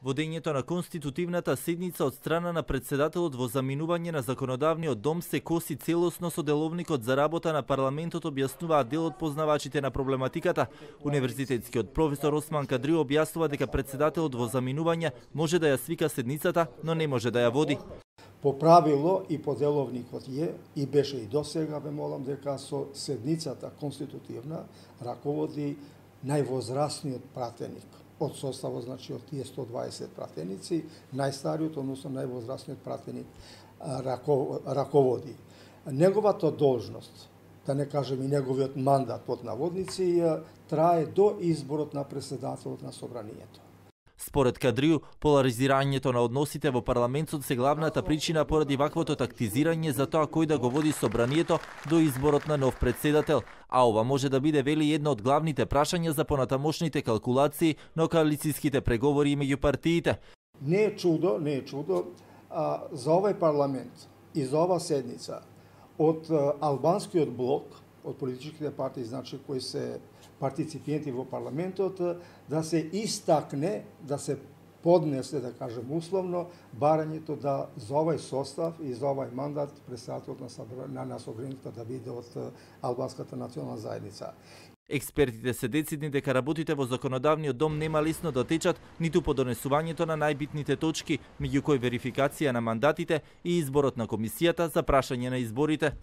Водењето на конститутивната седница од страна на председателот во заминување на законодавниот дом се коси целосно со деловникот за работа на парламентот, објаснуваат дел од познавачите на проблематиката. Универзитетскиот професор Осман Кадри објаснува дека председателот во заминување може да ја свика седницата, но не може да ја води. По правило и по деловникот и беше и досега, ве молам дека со седницата конститутивна раководи највозрасниот пратеник од составот, значи од тие 120 пратеници, најстариот, односно највозрасниот пратеник раководи. Неговата должност, да не кажем и неговиот мандат под наводници, трае до изборот на председателот на собранието. Според Кадрију, поларизирањето на односите во парламентот се главната причина поради ваквото тактизирање за тоа кој да го води собранието до изборот на нов председател, а ова може да биде, вели, едно од главните прашања за понатамошните калкулации на коалицијските преговори меѓу партиите. Не е чудо за овој парламент и за ова седница од албанскиот блок, од политичките партии, значи кои се партиципиенти во парламентот, да се истакне, да се поднесе, да кажем условно, барањето да за овој состав и за овој мандат председателот на собранието да биде од албанската национална заедница. Експертите се децидни дека работите во законодавниот дом нема лесно да течат ниту по донесувањето на најбитните точки, меѓу кои верификација на мандатите и изборот на комисијата за прашање на изборите.